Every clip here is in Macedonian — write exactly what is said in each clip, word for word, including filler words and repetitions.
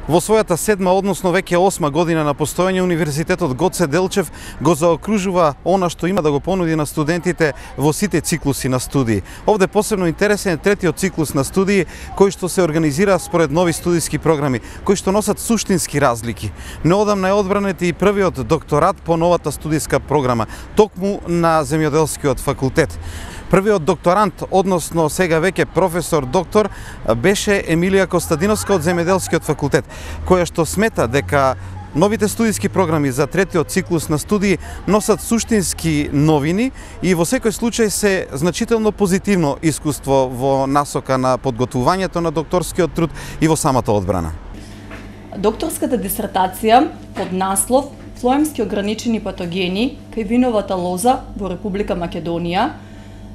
Во својата седма, односно веќе осма година на постоење, Универзитетот Гоце Делчев го заокружува она што има да го понуди на студентите во сите циклуси на студии. Овде посебно интересен е третиот циклус на студии, кој што се организира според нови студиски програми, кои што носат суштински разлики. Неодамна е одбранет и првиот докторат по новата студиска програма, токму на Земјоделскиот факултет. Првиот докторант, односно сега веќе професор доктор, беше Емилија Костадиновска од Земјоделскиот факултет, која што смета дека новите студиски програми за третиот циклус на студии носат суштински новини и во секој случај се значително позитивно искуство во насока на подготвувањето на докторскиот труд и во самата одбрана. Докторската дисертација под наслов Флоемски ограничени патогени кај виновата лоза во Република Македонија,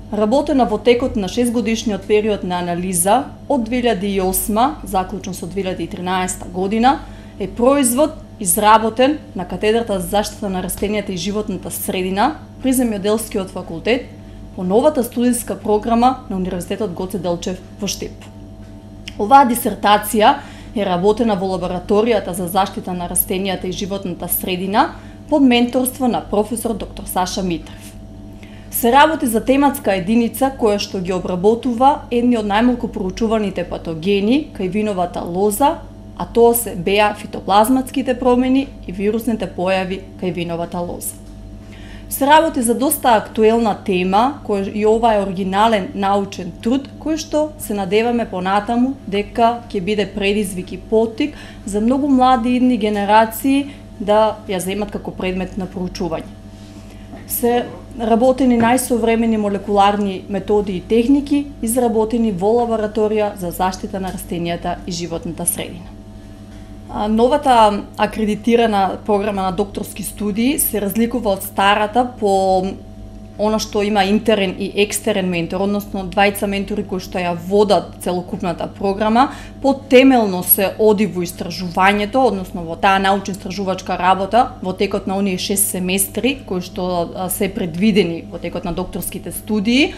работена во текот на шестгодишниот период на анализа од две илјади и осма заклучно со две илјади и тринаесетта година, е производ изработен на катедрата за заштита на растенијата и животната средина при Земјоделскиот факултет по новата студиска програма на Универзитетот Гоце Делчев во Штип. Оваа дисертација е работена во лабораторијата за заштита на растенијата и животната средина под менторство на професор доктор Саша Митрев. Се работи за тематска единица која што ги обработува едни од најмалку проучуваните патогени кај виновата лоза, а тоа се беа фитоплазматските промени и вирусните појави кај виновата лоза. Се работи за доста актуелна тема, која и ова е оригинален научен труд, кој што се надеваме понатаму дека ќе биде предизвик и поттик за многу млади идни генерации да ја земат како предмет на проучување. Се работени најсовремени молекуларни методи и техники, изработени во лабораторија за заштита на растенијата и животната средина. Новата акредитирана програма на докторски студии се разликува од старата по она што има интерен и екстерен ментор, односно двајца ментори кои што ја водат целокупната програма, потемелно се оди во истражувањето, односно во таа научно-истражувачка работа во текот на оние шест семестри кои што се предвидени во текот на докторските студии.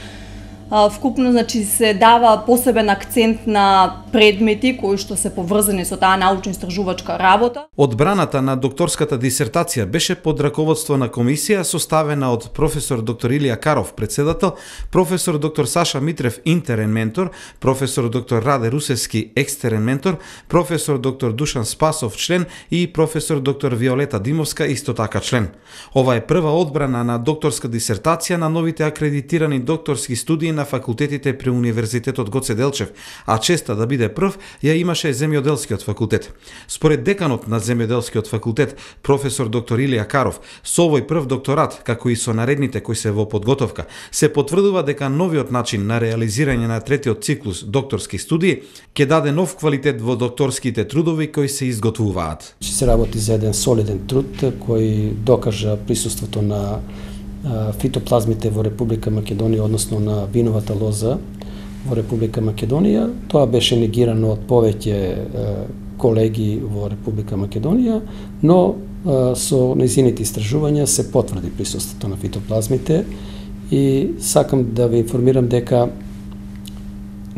Вкупно, значи, се дава посебен акцент на предмети кои што се поврзани со таа научно-истражувачка работа. Одбраната на докторската дисертација беше под раководство на комисија составена од професор доктор Илија Каров, председател, професор доктор Саша Митрев, интерен ментор, професор доктор Раде Русевски, екстерен ментор, професор доктор Душан Спасов, член, и професор доктор Виолета Димовска, исто така член. Ова е прва одбрана на докторска дисертација на новите акредитирани докторски студии на факултетите при Универзитетот Гоце Делчев, а честа да биде прв ја имаше Земјоделскиот факултет. Според деканот на Земјоделскиот факултет, професор доктор Илија Каров, со овој прв докторат, како и со наредните кои се во подготовка, се потврдува дека новиот начин на реализирање на третиот циклус докторски студии ќе даде нов квалитет во докторските трудови кои се изготвуваат. Се работи за еден солиден труд кој докажа присуството на фитоплазмите во Република Македонија, односно на виновата лоза во Република Македонија. Тоа беше негирано од повеќе колеги во Република Македонија, но со нејзините истражувања се потврди присуството на фитоплазмите и сакам да ве информирам дека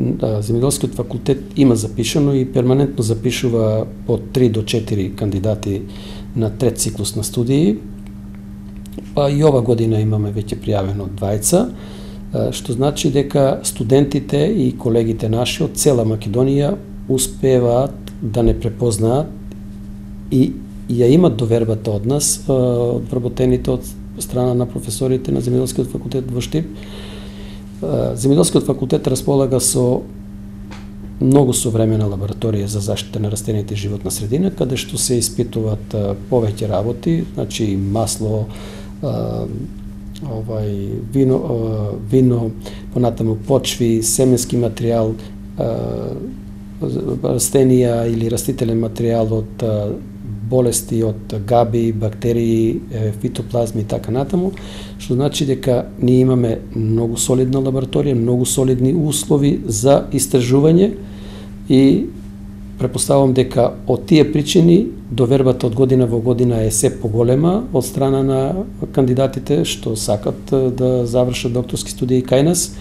Земјоделскиот факултет има запишано и перманентно запишува по три до четири кандидати на трет циклус на студии. Па и ова година имаме веќе пријавено двајца, што значи дека студентите и колегите наши од цела Македонија успеваат да не препознаат и ја имат довербата од нас, од вработените од страна на професорите на Земјоделскиот факултет во Штип. Земјоделскиот факултет располага со многу современа лабораторија за заштита на растенијата и животна средина, каде што се испитуваат повеќе работи, значи масло, овај вино, вино, понатаму почви, семенски материјал, растенија или растителен материјал од болести, од габи, бактерии, фитоплазми и така натаму, што значи дека ние имаме многу солидна лабораторија, многу солидни услови за истражување и претпоставувам дека од тие причини довербата од година во година е се поголема од страна на кандидатите што сакат да завршат докторски студии кај нас,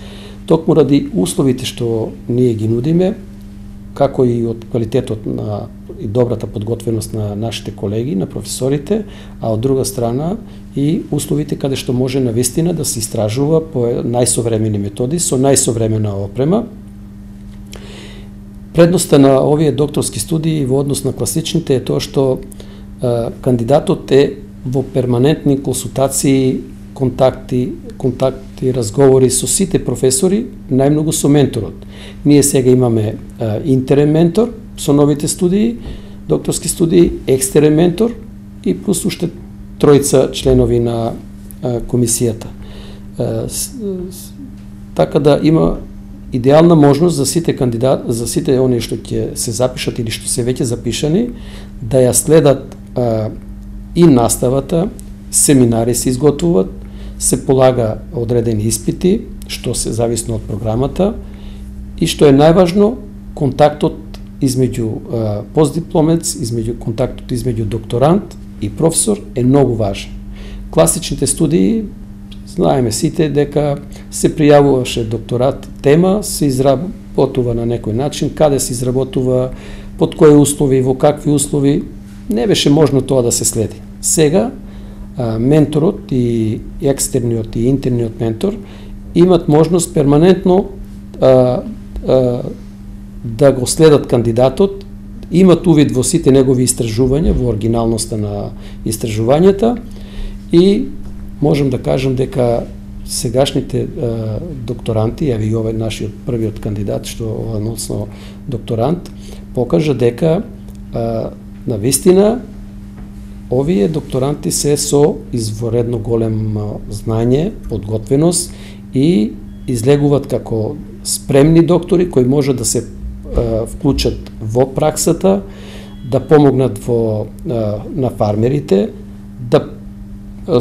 токму ради условите што ние ги нудиме како и од квалитетот на и добрата подготвеност на нашите колеги, на професорите, а од друга страна и условите каде што може навистина да се истражува по најсовремени методи со најсовремена опрема. Предноста на овие докторски студии во однос на класичните е тоа што а, кандидатот е во перманентни консултации, контакти, контакти, разговори со сите професори, најмногу со менторот. Ние сега имаме а, интерен ментор со новите студии, докторски студии, екстерен ментор и плюс уште тројца членови на а, комисијата. А, с, с, така да има идеална можност за сите кандидат, за сите оние што ќе се запишат или што се веќе запишани, да ја следат а, и наставата, семинари се изготвуваат, се полага одредени испити, што се зависно од програмата, и што е најважно, контактот измеѓу а, постдипломец, измеѓу контактот измеѓу докторант и професор е многу важен. Класичните студии, знаеме сите дека се пријавуваше докторат тема, се изработува на некој начин, каде се изработува, под кои услови, во какви услови, не беше можно тоа да се следи. Сега а, менторот и екстерниот и интерниот ментор имат можност перманентно а, а, да го следат кандидатот, имат увид во сите негови истражувања, во оригиналноста на истражувањата и можам да кажам дека сегашните а, докторанти, јави и овој нашиот првиот кандидат, што односно докторант, покажа дека а, на вистина овие докторанти се со изворедно голем знање, подготвеност и излегуваат како спремни доктори кои може да се а, вклучат во праксата, да помогнат во а, на фармерите, да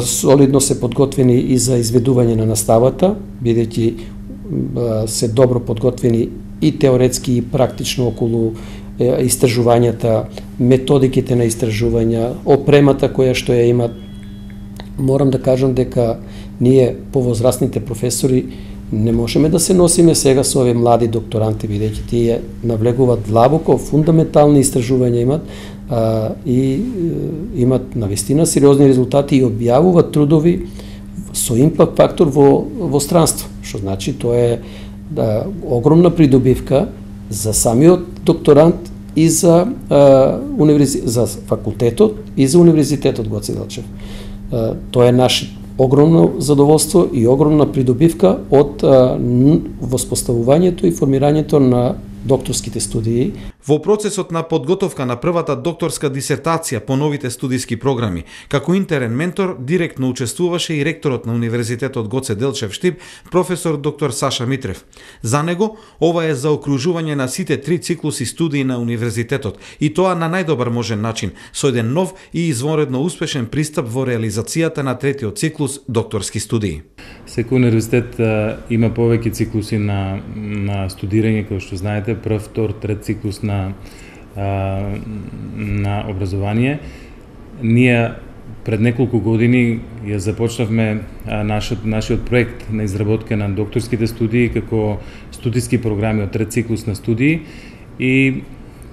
солидно се подготвени и за изведување на наставата, бидејќи се добро подготвени и теоретски и практично околу е, истражувањата, методиките на истражувања, опремата која што ја имат. Морам да кажам дека ние повозрастните професори не можеме да се носиме сега со овие млади докторанти, бидејќи тие навлегуваат длабоко, фундаментални истражувања имат а, и е, имат навистина сериозни резултати и објавуваат трудови со импакт фактор во, во странство, што значи тоа е да, огромна придобивка за самиот докторант и за, а, универзи... за факултетот и за универзитетот Гоце Делчев. А, тоа е наш огромно задоволство и огромна придобивка од а, воспоставувањето и формирањето на докторските студии. Во процесот на подготовка на првата докторска дисертација по новите студиски програми, како интерен ментор, директно учествуваше и ректорот на Универзитетот Гоце Делчев Штип, професор доктор Саша Митрев. За него, ова е заокружување на сите три циклуси студии на Универзитетот, и тоа на најдобар можен начин, со еден нов и извонредно успешен пристап во реализацијата на третиот циклус докторски студии. Секој универзитет а, има повеќе циклуси на, на студирање, како што знаете, прв, втор, трет циклус на, а, на образование. Ние пред неколку години ја започнавме а, нашиот, нашиот проект на изработка на докторските студии како студиски програми од трет циклус на студии и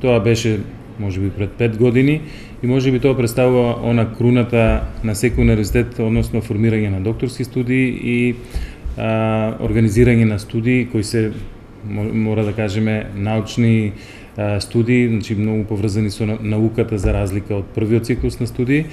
тоа беше можеби пред пет години и можеби тоа представува она круната на секој универзитет, односно формирање на докторски студии и а, организирање на студии кои се, мора да кажеме, научни а, студии, значи многу поврзани со науката за разлика од првиот циклус на студии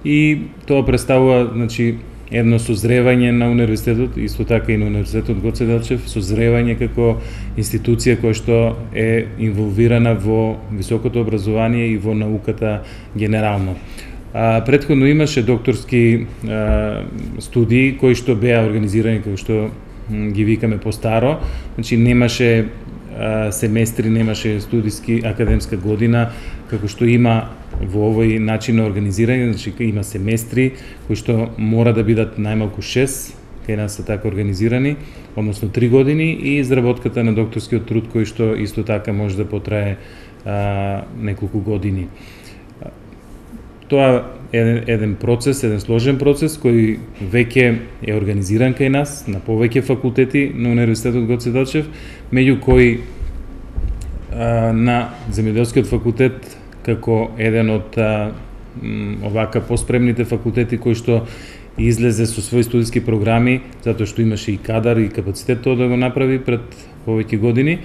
и тоа представува, значи, едно созревање на универзитетот, исто така и на Универзитетот Гоце Делчев, созревање како институција која што е инволвирана во високото образование и во науката генерално. А, предходно имаше докторски а, студии кои што беа организирани како што ги викаме по-старо, значи немаше а, семестри, немаше студиски академска година како што има во овој начин на организирање, значи има семестри кои што мора да бидат најмалку шест, кај нас се така организирани, односно три години и изработката на докторскиот труд кој што исто така може да потрае а, неколку години. Тоа е еден, еден процес, еден сложен процес кој веќе е организиран кај нас на повеќе факултети на Универзитетот Гоце Делчев, меѓу кои на земјоделскиот факултет како еден од овака поспремните факултети кои што излезе со своји студиски програми, затоа што имаше и кадар и капацитет тоа да го направи пред повеќе години,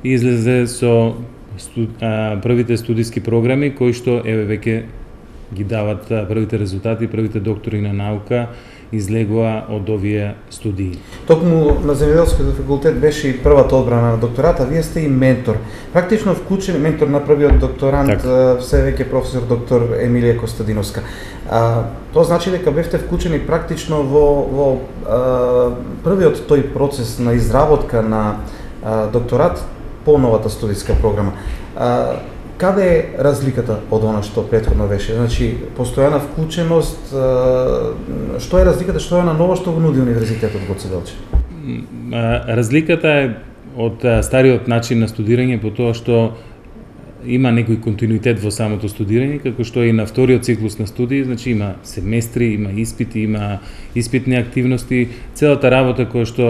и излезе со студ, а, првите студиски програми кои што еве веќе ги дават првите резултати, првите доктори на наука излегува од овие студии. Токму на земјоделскиот факултет беше и првата одбрана на доктората, вие сте и ментор. Практично вклучен ментор на првиот докторант, так. Се веќе професор доктор Емилија Костадиновска. А, тоа значи дека бевте вклучени практично во, во а, првиот тој процес на изработка на а, докторат по новата студиска програма. А, Каде е разликата од она што претходно беше? Значи, постојана вклученост, што е разликата, што е на ново што го нуди Универзитетот Гоце Делчев? Разликата е од стариот начин на студирање по тоа што има некој континуитет во самото студирање, како што и на вториот циклус на студии, значи има семестри, има испити, има испитни активности, целата работа која што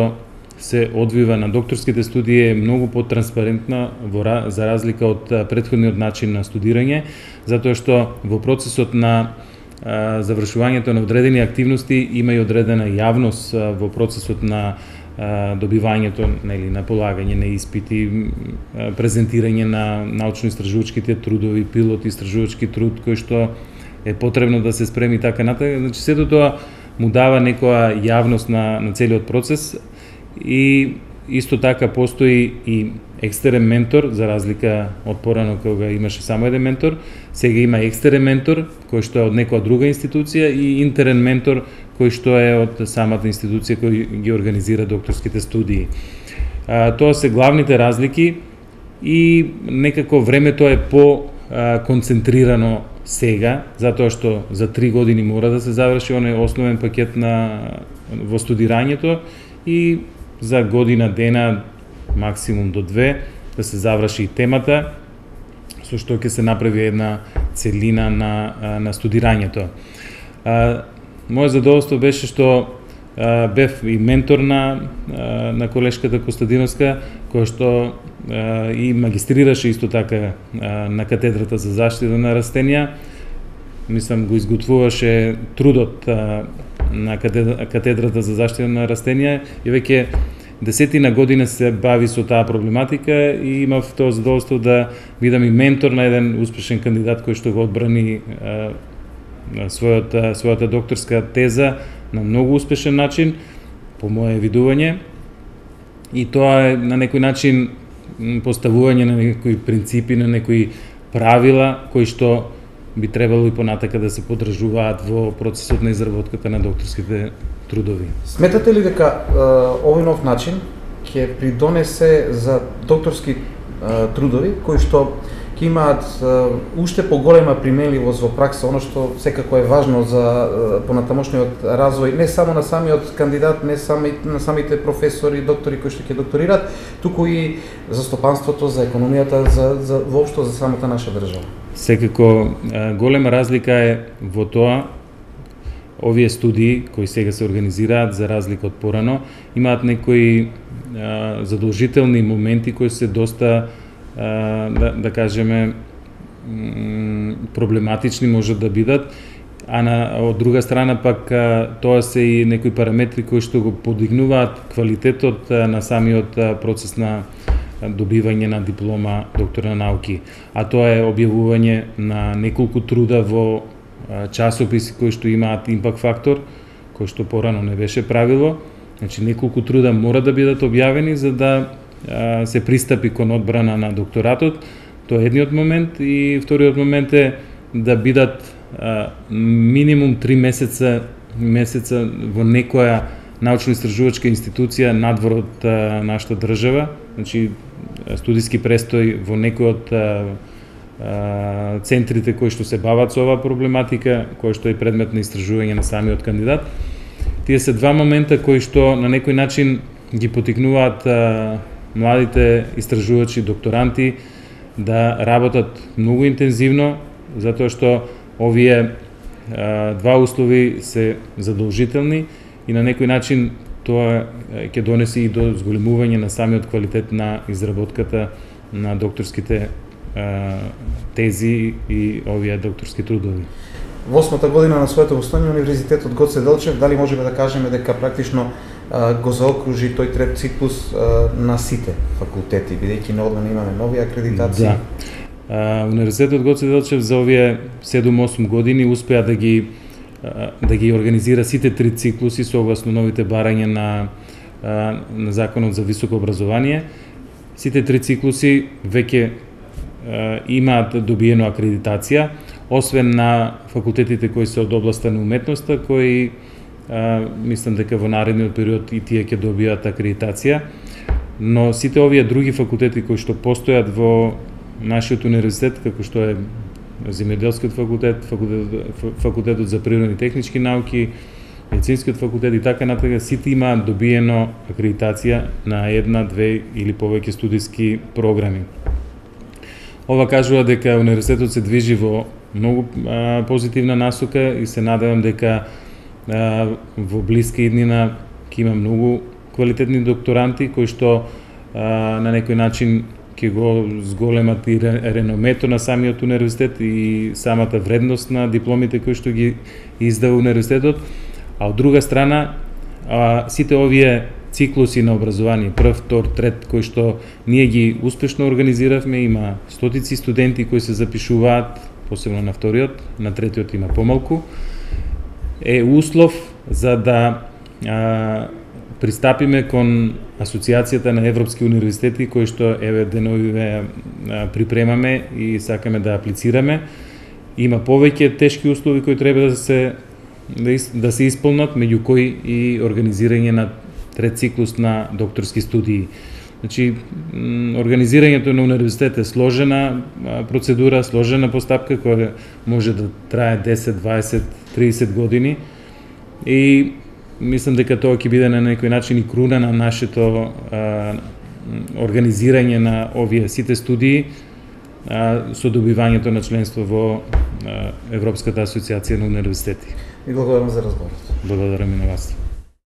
се одвива на докторските студии е многу потранспарентна во, за разлика од претходниот начин на студирање, затоа што во процесот на а, завршувањето на одредени активности има и одредена јавност а, во процесот на а, добивањето, нели, на полагање на испити, а, презентирање на научно-истражувачките трудови, пилот истражувачки труд кој што е потребно да се спреми така натаму. Значи сето тоа му дава некоја јавност на, на целиот процес. И исто така постои и екстерен ментор, за разлика од порано кога имаше само еден ментор, сега има екстерен ментор кој што е од некоја друга институција и интерен ментор кој што е од самата институција кој ги организира докторските студии. А, тоа се главните разлики и некако времето е по а, концентрирано сега, затоа што за три години мора да се заврши оној основен пакет на во студирањето и за година дена, максимум до две, да се заврши и темата, со што ќе се направи една целина на, на студирањето. А, моје задоволство беше што а, бев и ментор на, на колешката Костадиновска, која што а, и магистрираше исто така а, на катедрата за заштита на растенија. Мислам, го изготвуваше трудот а, на катедрата за заштита на растенија и веќе десетина година се бави со таа проблематика и имав тоа задоволство да бидам и ментор на еден успешен кандидат кој што го одбрани а, својата, својата докторска теза на многу успешен начин, по моје видување. И тоа е на некој начин поставување на некои принципи, на некои правила кои што би требало и понатака да се поддржуваат во процесот на изработката на докторските трудови. Сметате ли дека е, овој нов начин ќе придонесе за докторски е, трудови кои што ќе имаат е, уште поголема применливост во пракса, оно што секако е важно за е, понатамошниот развој не само на самиот кандидат, не само на самите професори, доктори кои што ќе докторираат, туку и за стопанството, за економијата, за, за воопшто за самата наша држава. Секако голема разлика е во тоа, овие студии кои сега се организираат за разлика од порано, имаат некои а, задолжителни моменти кои се доста, а, да, да кажеме, проблематични можат да бидат, а на, од друга страна пак а, тоа се и некои параметри кои што го подигнуваат квалитетот а, на самиот а, процес на добивање на диплома доктор на науки, а тоа е објавување на неколку труда во часописи кои што имаат импакт фактор, кој што порано не беше правило. Значи неколку труда мора да бидат објавени за да а, се пристапи кон одбрана на докторатот. Тоа е едниот момент и вториот момент е да бидат а, минимум три месеца месеца во некоја научно-истражувачка институција надвор од а, нашата држава, значи студиски престој во некој од а, а, центрите кои што се бават со оваа проблематика, кој што е предмет на истражување на самиот кандидат. Тие се два момента кои што на некој начин ги потикнуваат а, младите истражувачи, докторанти да работат многу интензивно, затоа што овие а, два услови се задолжителни и на некој начин тоа ќе донеси и до зголемување на самиот квалитет на изработката на докторските а, тези и овие докторски трудови. Во осмата година на своето постојање Универзитетот Гоце Делчев, дали можеме да кажеме дека практично а, го заокружи тој трет циклус а, на сите факултети, бидејќи неодамна имаме нови акредитации? Да. А, Универзитетот Гоце Делчев за овие седум-осум години успеа да ги а, да ги организира сите три циклуси согласно новите барања на а, на Законот за високо образование. Сите три циклуси веќе а, имаат добиено акредитација, освен на факултетите кои се од областа на уметноста, кои а, мислам дека во наредниот период и тие ќе добијат акредитација, но сите овие други факултети кои што постојат во нашиот универзитет, како што е Земјоделскиот факултет, факултет, факултетот за природни и технички науки, медицинскиот факултет и така натаму, сите имаат добиено акредитација на една, две или повеќе студиски програми. Ова кажува дека универзитетот се движи во многу а, позитивна насока и се надевам дека а, во блиска иднина ќе има многу квалитетни докторанти кои што а, на некој начин ќе го зголемат и реномето на самиот универзитет и самата вредност на дипломите кои што ги издава универзитетот, а од друга страна а, сите овие циклуси на образование, прв, втор, трет, кои што ние ги успешно организиравме, има стотици студенти кои се запишуваат, посебно на вториот, на третиот има помалку, е услов за да а, пристапиме кон Асоциацијата на Европски универзитети, кои што еве деновиве припремаме и сакаме да аплицираме. Има повеќе тешки услови кои треба да се да, из, да се исполнат, меѓу кои и организирање на трет циклус на докторски студии. Значи, организирањето на универзитет е сложена процедура, сложена постапка која може да трае десет, дваесет, триесет години и мислам дека тоа ќе биде на некој начин и круна на нашето а, организирање на овие сите студии а, со добивањето на членство во а, Европската асоциација на универзитети. И благодарам за разговорот. Благодарам и на вас.